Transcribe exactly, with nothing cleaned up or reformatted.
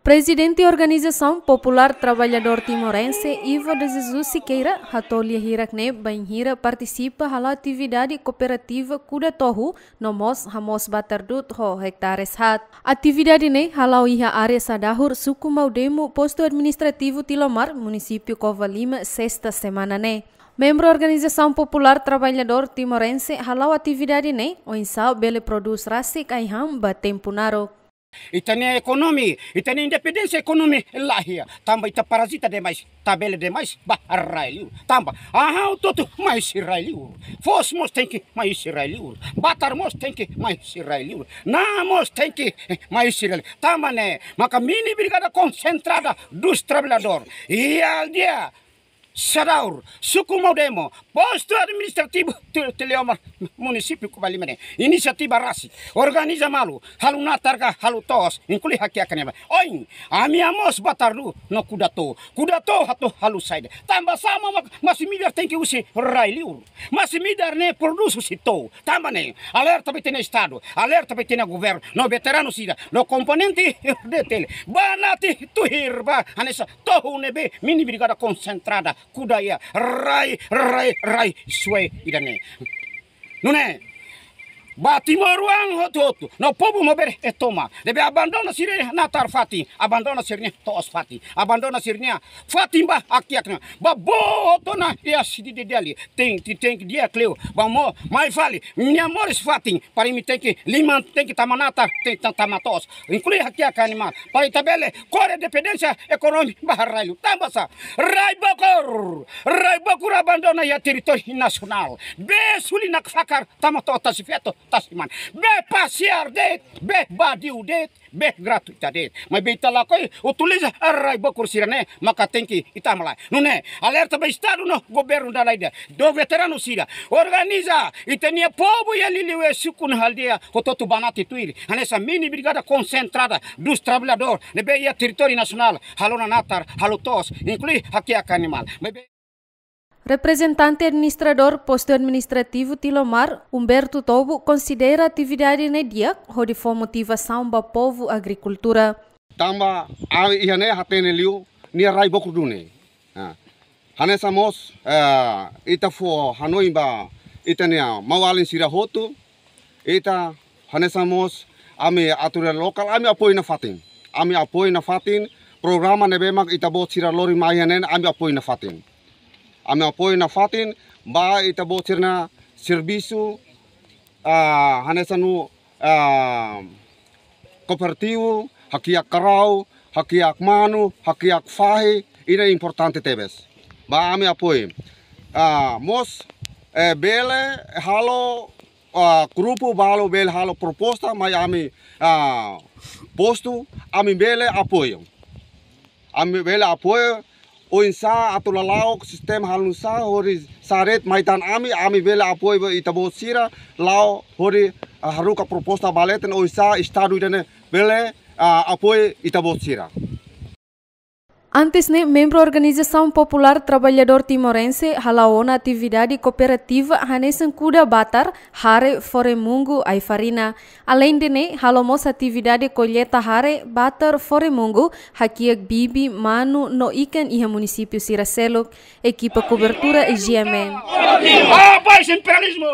Prezidente Organizasaun Populár Traballadór Timorense, Ivo de Jesus Siqueira, hato'o lia hirak ne'e bainhira partisipa hala'o atividade kooperativa Kuda Tohu, no mós hamoos batar du'ut ho ektares haat. Atividade ne'e hala'o iha área Sadahur, Suku Maudemo, Postu Administrativu Tilomar, Munisípiu Covalima, sesta semana ne'e. Membru Organizasaun Populár Traballadór Timorense hala'o atividade ne'e oinsá bele prodús rasik ai-han ba tempu naruk. Ita-nia ekonomia, ita-nia independénsia ekonomia laiha. Tanba ita parazita demais, tabele demais ba rai-li'ur. Tanba, aha, hotu-hotu mai husi rai-li'ur. Foos mós tenke mai husi rai-li'ur. Batar mós tenke mai husi rai-li'ur. Na'an mós tenke, eh, mai husi rai-li'ur. Tanba ne'e, maka mini brigada konsentrada dos traballadór. Iha aldeia Sadahur, Suku Maudemo, Postu Administrativu Ti-, Tilomar, Munisípiu Covalima ne'e. Inisiativa rasik, organiza malu, halo natar ka, halo to'os, inklui hakiak nia malu. Oin, ami hamoos batar du'ut no Kuda Tohu. Kuda Tohu atu halo saida? Tanba sá mak masi-midar tenke husi rai-li'ur? Masi-midar ne'e prodús husi to'o. Tanba ne'e, alerta ba ita-nia Estadu, alerta ba ita-nia governu, no veteranu sira, no komponente R D T L. Banati tuir ba hanesan tohu ne'ebé mini brigada konsentrada Kuda iha rai, rai, rai suai ida-ne'e. Nune'e, ba timoroan hotu-hotu, no povu maubere e tomak. Ne'ebé abandona sira-nia natar fatin, abandona sira-nia to'os fatin, abandona sira-nia fatin ba hakiak nia. Ba boot ona iha sidade Dili, tenke, tenke di'ak liu. Ba mo, mai fali, nia moris fatin, para imi tenke liman, tenke tama natar, tenke ta-, tama to'os. Inklui hakiak animál. Para ita bele kore dependénsia ekonomia ba rai-li'ur. Tanba sá? Rai Bokur, rai Bokur abandona iha territóriu nasionál. Bee suli nakfakar tama to'o tasi-feto, tasi-mane. Bee pasiar de'it, bee vadiu de'it, bee gratuita de'it. Maibé ita lakohi utiliza rai Bokur sira-ne'e, maka tenke ita halai. Nune'e, alerta ba Estadu no governu dala ida. No veteranu sira, organiza ita-nia povu iha liuliu suku no aldeia hotu-hotu banati tuir hanesan mini brigada konsentrada dos traballadór ne'ebé iha territóriu nasionál, halo ona natar, halo to'os, inklui hakiak animál. Maibé Reprezentante Administradór Postu Administrativu Tilomar, Humberto Tobo, konsidera atividade ne'e di'ak hodi fó motivasaun ba povu agrikultura. Tanba ami iha ne'e hatene liu nia rai Bokur duni. Ah. Hanesan mós, eh, ita fó hanoin ba ita-nia maun-alin sira hotu, ita hanesan mós ami autoridade lokál, ami apoiu nafatin. Ami apoiu nafatin, programa ne'ebé mak ita-boot sira lori mai iha ne'e, ami apoiu nafatin. Ami apoiu nafatin, ba ita-boot sira-nia servisu, ah, hanesan nu, ah, kooperativu, hakiak karau, hakiak manu, hakiak fahi, ida importante tebes. Ba ami apoiu. Ah, mós, eh, bele halo, ah, grupu balu bele halo proposta, mai ami, ah, postu, ami bele apoiu. Ami bele apoiu, oinsá atu lala'ok sistema halo nusá, hodi saret mai tan ami, ami bele apoiu ba ita-boot sira, la'o hodi, ah, haruka proposta ba leten, oinsá Estadu ida-ne'e bele, ah, apoiu ita-boot sira. Antes ne'e, membru Organizasaun Populár Traballadór Timorense hala'o ona atividade kooperativa hanesan kuda batar, hare, fore-mungu, ai-farina. Aleinde ne'e, halo mós atividade kolleita hare, batar, fore-mungu, hakiak bibi, manu, no ikan iha munisípiu sira seluk. Ekipa kobertura G M N. Ah, paz, imperialismo!